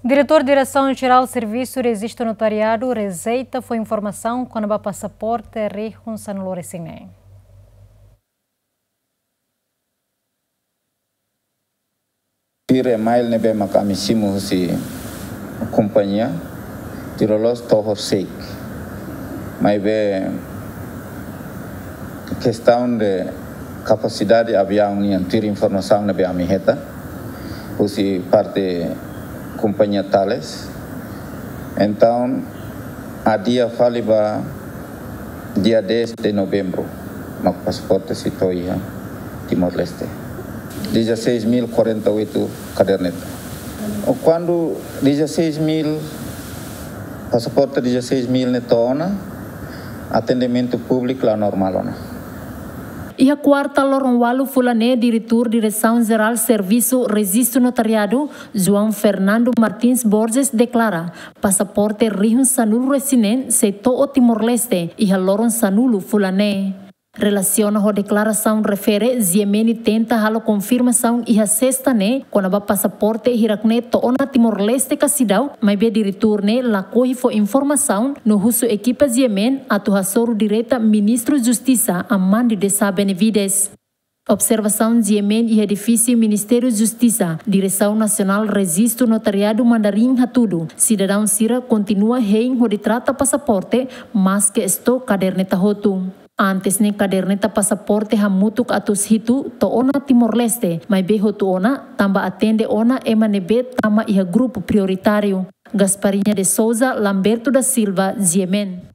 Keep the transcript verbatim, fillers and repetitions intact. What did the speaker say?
Diretór Diresaun Jerál Servisu Rejistu Notariadu rejeita fó informasaun kona-ba pasaporte rihun sanulu-resin-neen. Tuir email ne'ebé mak ami simu husi kompañia, tuir loloos to'o horisehik. Maibé kestaun de kapasidade aviaun nian, tuir informasaun ne'ebé ami hetan husi parte kompañia Thales. Entaun, adia fali ba dia dez de novembru, mak pasaporte sei to'o iha Timor-Leste. Dezasseis mil quarenta e oito kaderneta. Kuandu dezasseis mil, pasaporte dezasseis mil ne'e to'o ona, atendimentu públiku la normál ona. Iha kuarta loron ualu fulan ne'e, Diretór Diresaun Jerál Servisu Rejistu Notariadu, João Fernando Martins Borges, deklara pasaporte rihun sanulu-resin-neen sei to'o Timor-Leste iha loron sanulu fulan ne'e. Relasiona ho deklarasaun refere, GMN tenta halo konfirmasaun iha sesta ne'e kona-ba pasaporte hirak-ne'e to'o ona Timor-Leste ka seidauk, maibé diretór ne'e lakohi fó informasaun no husu ekipa GMN atu hasoru direta Ministru Justisa, Amandi de Sá Benavides. Observasaun GMN iha edifísiu Ministériu Justisa, Diresaun Nasionál Rejistu Notariadu Mandarin hatudu, sidadaun sira kontinua hein hodi trata pasaporte, maske estok kaderneta hotu. Antes ne'e kaderneta pasaporte hamutuk atus hitu to'o ona Timor-Leste, maibé hotu ona tanba atende ona ema ne'ebé tama iha grupu prioritáriu. Gasparinha de Souza, Lamberto da Silva, GMN.